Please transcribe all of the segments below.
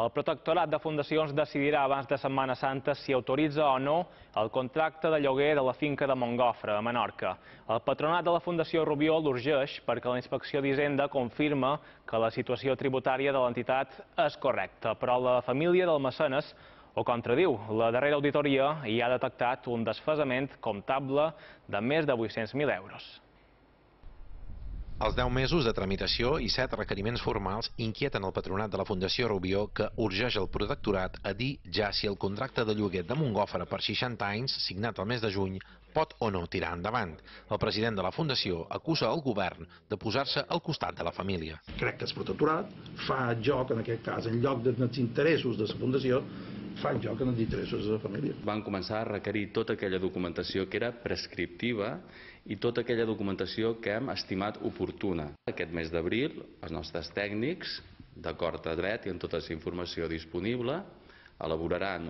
El Protectorat de Fundacions decidirà abans de Setmana Santa si autoritza o no el contracte de lloguer de la finca de Montgofre, a Menorca. El patronat de la Fundació Rubió l'urgeix perquè la Inspecció d'Hisenda confirma que la situació tributària de l'entitat és correcta, però la família del mecenes ho contradiu. La darrera auditoria hi ha detectat un desfasament comptable de més de 800.000 euros. Els 10 mesos de tramitació i 7 requeriments formals inquieten el patronat de la Fundació Rubió, que urgeix el protectorat a dir ja si el contracte de lloguer de Montgofre per 60 anys, signat el mes de juny, pot o no tirar endavant. El president de la Fundació acusa el govern de posar-se al costat de la família. Crec que el protectorat fa joc, en aquest cas, en lloc dels interessos de la Fundació, fa joc en els interessos de la família. Van començar a requerir tota aquella documentació que era prescriptiva i tota aquella documentació que hem estimat oportuna. Aquest mes d'abril, els nostres tècnics, d'acord a dret i amb tota la informació disponible, elaboraran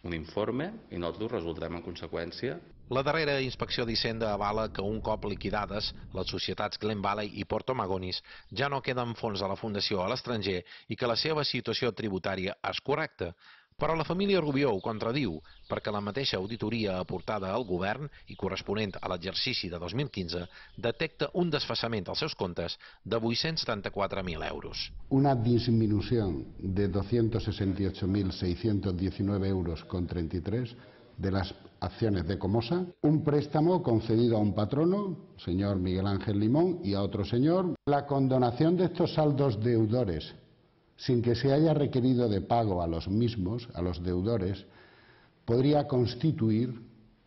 un informe i nosaltres ho resoldrem en conseqüència. La darrera inspecció d'Hisenda avala que un cop liquidades, les societats Glen Valley i Porto Magonis ja no queden fons de la Fundació a l'estranger i que la seva situació tributària és correcta. Però la família Rubió ho contradiu, perquè la mateixa auditoria aportada al govern i corresponent a l'exercici de 2015 detecta un desfasament als seus comptes de 874.000 euros. Una disminución de 268.619 euros con 33 de las acciones de Comosa, un préstamo concedido a un patrono, señor Miguel Ángel Limón, y a otro señor. La condonación de estos saldos deudores, sin que se haya requerido de pago a los mismos, a los deudores, podría constituir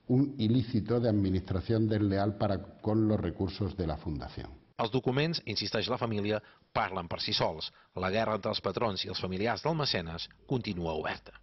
un ilícito de administración desleal con los recursos de la Fundació. Els documents, insisteix la família, parlen per si sols. La guerra entre els patrons i els familiars del mecenes continua oberta.